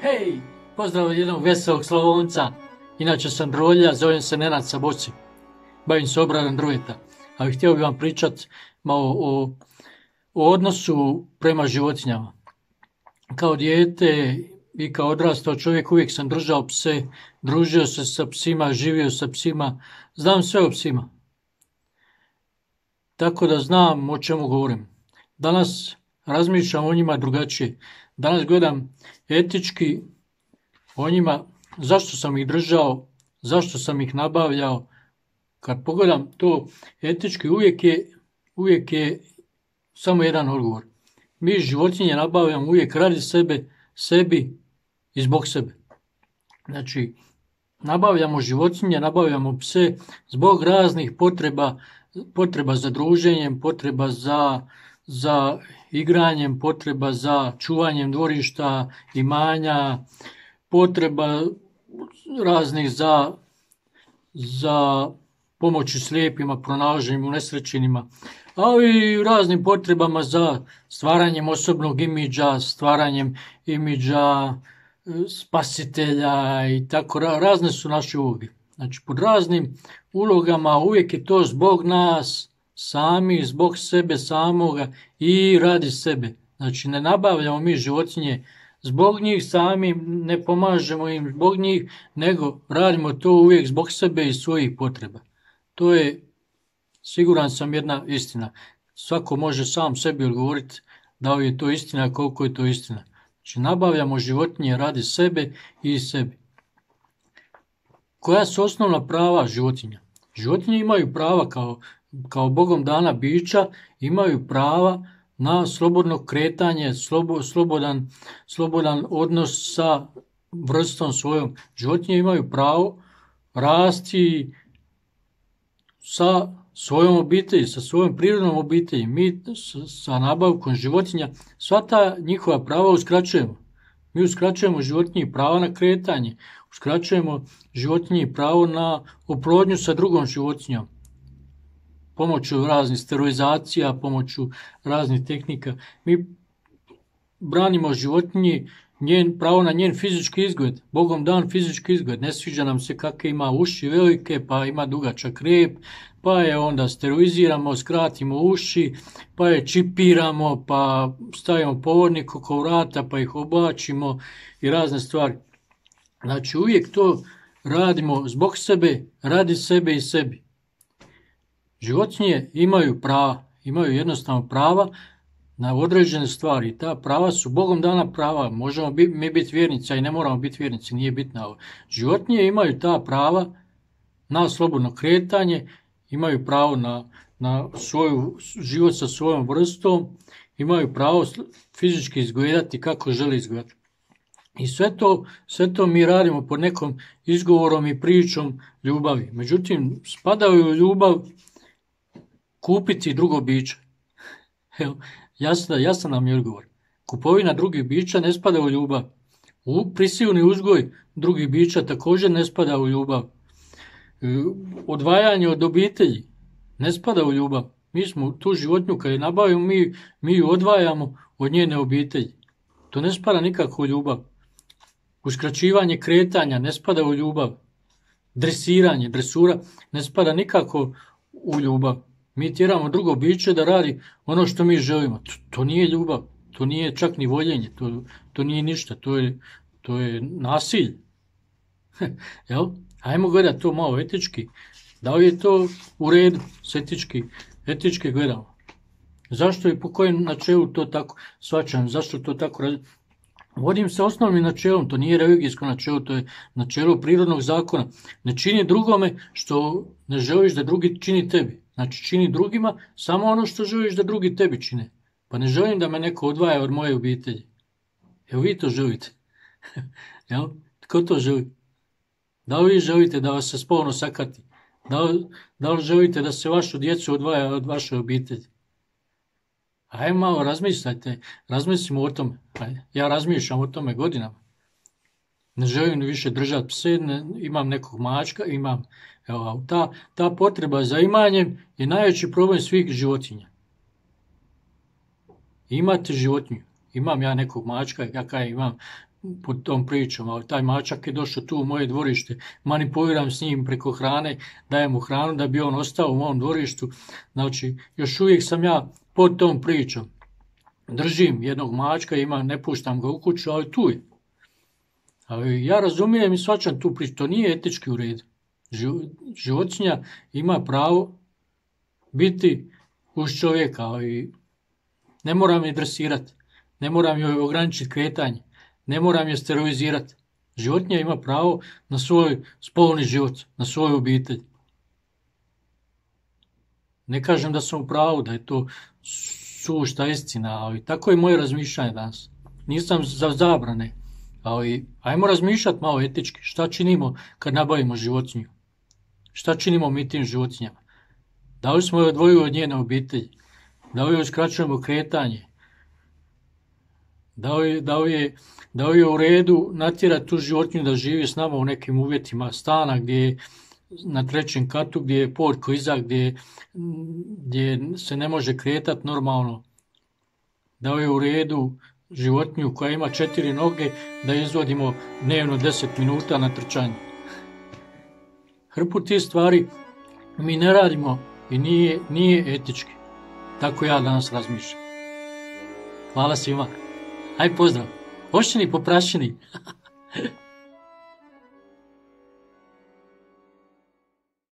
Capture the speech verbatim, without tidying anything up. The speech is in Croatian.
Hej, pozdrav od jednog veselog Slavonca. Inače sam drolja, zovem se Nenad Saboci. Bavim se obradom drveta. Ali htio bih vam pričati malo o, o odnosu prema životinjama. Kao dijete i kao odrastao čovjek uvijek sam držao pse, družio se sa psima, živio sa psima. Znam sve o psima. Tako da znam o čemu govorim. Danas razmišljam o njima drugačije. Danas gledam etički o njima, zašto sam ih držao, zašto sam ih nabavljao. Kad pogledam to etički, uvijek je, uvijek je samo jedan odgovor. Mi životinje nabavljamo uvijek radi sebe, sebi i zbog sebe. Znači, nabavljamo životinje, nabavljamo pse zbog raznih potreba, potreba za druženjem, potreba za, za igranjem, potreba za čuvanjem dvorišta, imanja, potreba raznih za, za pomoći slijepima, pronalaženjem unesrećenima, ali i raznim potrebama za stvaranjem osobnog imidža, stvaranjem imidža spasitelja i tako. Razne su naše uloge. Znači, pod raznim ulogama uvijek je to zbog nas sami, zbog sebe samoga i radi sebe. Znači, ne nabavljamo mi životinje zbog njih sami, ne pomažemo im zbog njih, nego radimo to uvijek zbog sebe i svojih potreba. To je, siguran sam, jedna istina. Svako može sam sebi odgovoriti da li je to istina, koliko je to istina. Znači, nabavljamo životinje radi sebe i sebi. Koja su osnovna prava životinja? Životinje imaju prava kao, kao Bogom dana bića, imaju prava na slobodno kretanje, slobo, slobodan, slobodan odnos sa vrstom svojom. Životinje imaju pravo rasti sa svojom obitelji, sa svojom prirodnom obitelji. Mi sa nabavkom životinja sva ta njihova prava uskraćujemo. Mi uskraćujemo životinji pravo na kretanje, uskraćujemo životinji pravo na oplodnju sa drugom životinjom, pomoću raznih sterilizacija, pomoću raznih tehnika. Mi branimo životinji njen, pravo na njen fizički izgled, Bogom dan fizički izgled. Ne sviđa nam se kakve ima uši velike, pa ima dugačak rep, pa je onda steriliziramo, skratimo uši, pa je čipiramo, pa stavimo povodnik oko vrata, pa ih oblačimo i razne stvari. Znači, uvijek to radimo zbog sebe, radi sebe i sebi. Životinje imaju prava, imaju jednostavno prava na određene stvari. Ta prava su Bogom dana prava. Možemo bi, mi biti vjernici, a i ne moramo biti vjernici, nije bitno ovo. Životinje imaju ta prava na slobodno kretanje, imaju pravo na, na svoju, život sa svojom vrstom, imaju pravo fizički izgledati kako žele izgledati. I sve to, sve to mi radimo pod nekom izgovorom i pričom ljubavi. Međutim, spadaju u ljubav kupiti drugo biće. Evo, jasno, jasno nam je odgovor. Kupovina drugih bića ne spada u ljubav. U prisilni uzgoj drugih bića također ne spada u ljubav. Odvajanje od obitelji ne spada u ljubav. Mi smo tu životinju kad je nabavimo, mi, mi ju odvajamo od njene obitelji. To ne spada nikako u ljubav. Uskraćivanje kretanja ne spada u ljubav. Dresiranje, dresura ne spada nikako u ljubav. Mi tjeramo drugo biće da radi ono što mi želimo. To, to nije ljubav, to nije čak ni voljenje, to, to nije ništa, to je, to je nasilje. Jel? Ajmo gledati to malo etički. Da li je to u redu s etički, etički gledamo? Zašto i po kojem načelu to tako shvaćam? Zašto to tako radi? Vodim se osnovnim načelom, to nije religijsko načelo, to je načelo prirodnog zakona. Ne čini drugome što ne želiš da drugi čini tebi. Znači, čini drugima samo ono što želiš da drugi tebi čine. Pa ne želim da me neko odvaja od moje obitelji. Evo vi to želite. Jel? Tko to želi? Da li vi želite da vas se spolno sakati? Da li, da li želite da se vašu djecu odvaja od vaše obitelji? Ajde malo razmislite, razmislimo o tome. Ajde. Ja razmišljam o tome godinama. Ne želim više držati pse, ne, imam nekog mačka, imam. Evo, ta, ta potreba za imanjem je najveći problem svih životinja. Imate životinju. Imam ja nekog mačka, ja kaj imam pod tom pričom, a taj mačak je došao tu u moje dvorište, manipuliram s njim preko hrane, dajem mu hranu da bi on ostao u mom dvorištu. Znači, još uvijek sam ja pod tom pričom. Držim jednog mačka, ima, ne puštam ga u kuću, ali tu je. Ali ja razumijem i shvaćam tu priču, to nije etički u redu. Životinja ima pravo biti uz čovjeka, ali ne moram je dresirati, ne moram joj ograničiti kretanje, ne moram je sterilizirati. Životinja ima pravo na svoj spolni život, na svoju obitelj. Ne kažem da sam u pravu, da je to sušta istina, ali tako je moje razmišljanje danas. Nisam za zabrane, ali ajmo razmišljati malo etički. Šta činimo kad nabavimo životinju? Šta činimo mi tim životinjama? Da li smo je odvojili od njene obitelji? Da li joj skraćujemo kretanje? Da li, da li, je, da li je u redu natjerati tu životinju da živi s nama u nekim uvjetima stana gdje je na trećem katu, gdje je pod kliza, gdje, gdje se ne može kretati normalno? Da li je u redu životinju koja ima četiri noge da izvodimo dnevno deset minuta na trčanje? Hrpu tih stvari mi ne radimo i nije, nije etički. Tako ja danas razmišljam. Hvala svima. Aj pozdrav. Ošćeni poprašeni.